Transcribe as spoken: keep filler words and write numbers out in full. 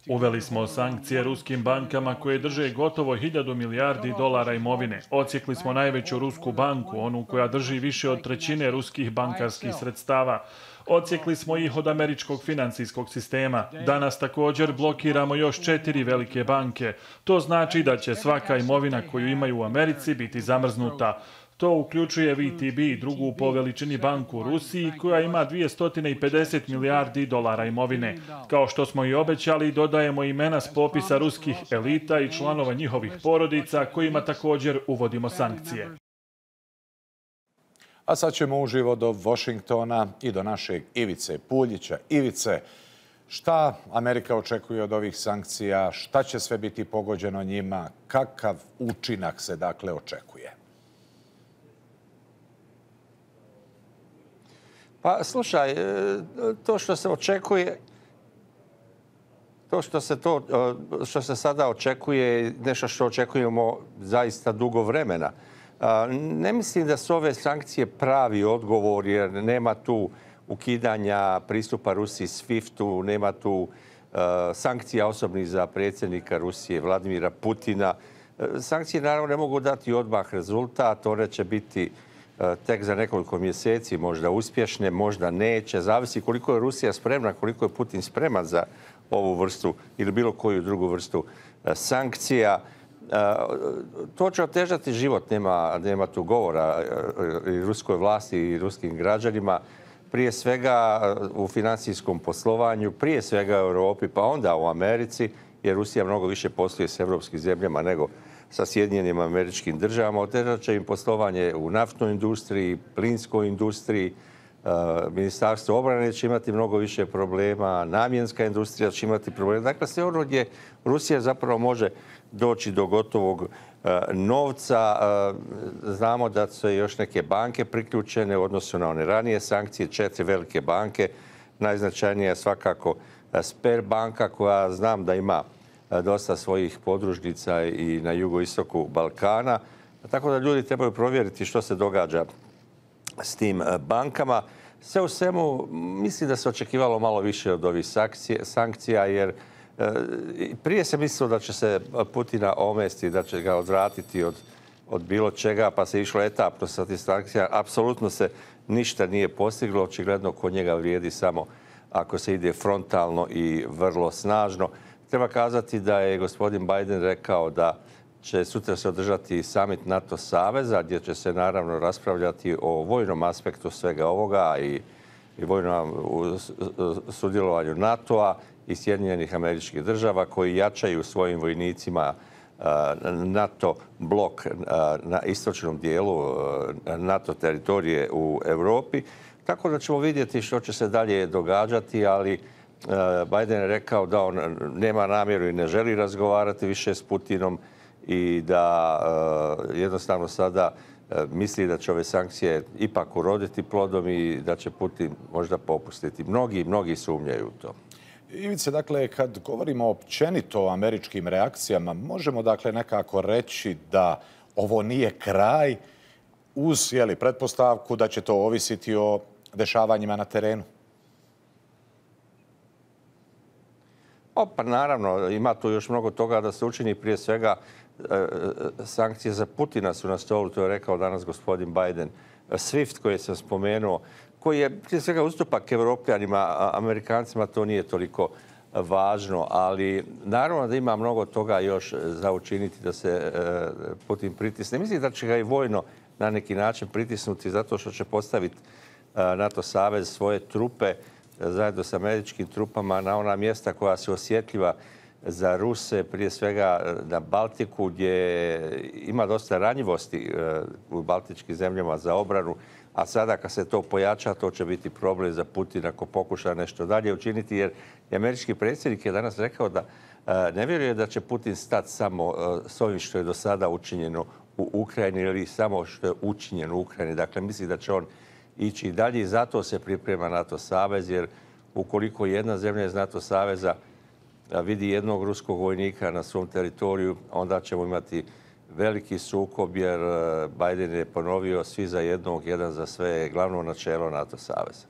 Uveli smo sankcije ruskim bankama koje drže gotovo hiljadu milijardi dolara imovine. Odsjekli smo najveću rusku banku, onu koja drži više od trećine ruskih bankarskih sredstava. Odsjekli smo ih od američkog financijskog sistema. Danas također blokiramo još četiri velike banke. To znači da će svaka imovina koju imaju u Americi biti zamrznuta. To uključuje V T B, drugu po veličini banku u Rusiji, koja ima dvjesto pedeset milijardi dolara imovine. Kao što smo i obećali, dodajemo imena s popisa ruskih elita i članova njihovih porodica, kojima također uvodimo sankcije. A sad ćemo uživo do Washingtona i do našeg Ivice Puljića. Ivice, šta Amerika očekuje od ovih sankcija? Šta će sve biti pogođeno njima? Kakav učinak se dakle očekuje? Pa slušaj, to što se očekuje, to što se, to, što se sada očekuje je nešto što očekujemo zaista dugo vremena. Ne mislim da su ove sankcije pravi odgovor jer nema tu ukidanja pristupa Rusiji SWIFT-u, nema tu sankcija osobnih za predsjednika Rusije Vladimira Putina. Sankcije naravno ne mogu dati odmah rezultat, one će biti tek za nekoliko mjeseci možda uspješne, možda neće. Zavisi koliko je Rusija spremna, koliko je Putin spreman za ovu vrstu ili bilo koju drugu vrstu sankcija. To će otežati život, nema, nema tu govora i ruskoj vlasti i ruskim građanima. Prije svega u financijskom poslovanju, prije svega u Europi, pa onda u Americi, jer Rusija mnogo više posluje s evropskim zemljama nego sa Sjedinjenim Američkim Državama. Otežat će im poslovanje u naftnoj industriji, plinskoj industriji. Ministarstvo obrane će imati mnogo više problema, namjenska industrija će imati problema. Dakle, sve ono gdje Rusija zapravo može doći do gotovog novca. Znamo da su još neke banke priključene u odnosu na one ranije sankcije, četiri velike banke. Najznačajnija je svakako Sberbanka koja znam da ima dosta svojih podružnica i na jugoistoku Balkana. Tako da ljudi trebaju provjeriti što se događa s tim bankama. Sve u svemu mislim da se očekivalo malo više od ovih sankcija jer prije se mislilo da će se Putina omesti, da će ga odvratiti od, od bilo čega, pa se išlo etapno sa tih sankcija. Apsolutno se ništa nije postiglo. Očigledno kod njega vrijedi samo ako se ide frontalno i vrlo snažno. Treba kazati da je gospodin Biden rekao da će sutra se održati summit NATO saveza, gdje će se naravno raspravljati o vojnom aspektu svega ovoga i, i vojnom sudjelovanju NATO-a i Sjedinjenih Američkih Država koji jačaju svojim vojnicima NATO blok na istočnom dijelu NATO teritorije u Europi. Tako da ćemo vidjeti što će se dalje događati, ali Biden je rekao da on nema namjeru i ne želi razgovarati više s Putinom i da jednostavno sada misli da će ove sankcije ipak uroditi plodom i da će Putin možda popustiti. Mnogi, mnogi sumnjaju u to. Ivice, dakle, kad govorimo općenito o američkim reakcijama, možemo dakle nekako reći da ovo nije kraj uz jeli, pretpostavku da će to ovisiti o dešavanjima na terenu? O, pa naravno, ima tu još mnogo toga da se učini. Prije svega, sankcije za Putina su na stolu, to je rekao danas gospodin Biden. SWIFT koji sam spomenuo, koji je prije svega ustupak Evropljanima, Amerikancima to nije toliko važno, ali naravno da ima mnogo toga još za učiniti da se Putin pritisne. Mislim da će ga i vojno na neki način pritisnuti zato što će postaviti NATO savez svoje trupe zajedno s američkim trupama na ona mjesta koja su osjetljiva za Ruse, prije svega na Baltiku gdje ima dosta ranjivosti u baltičkim zemljama za obranu, a sada kad se to pojača, to će biti problem za Putina ako pokuša nešto dalje učiniti, jer američki predsjednik je danas rekao da ne vjeruje da će Putin stati samo s ovim što je do sada učinjeno u Ukrajini ili samo što je učinjeno u Ukrajini. Dakle, misli da će on ići dalje i zato se priprema NATO savez, jer ukoliko jedna zemlja iz NATO saveza vidi jednog ruskog vojnika na svom teritoriju, onda ćemo imati veliki sukob, jer Biden je ponovio svi za jednog, jedan za sve, glavno načelo NATO saveza.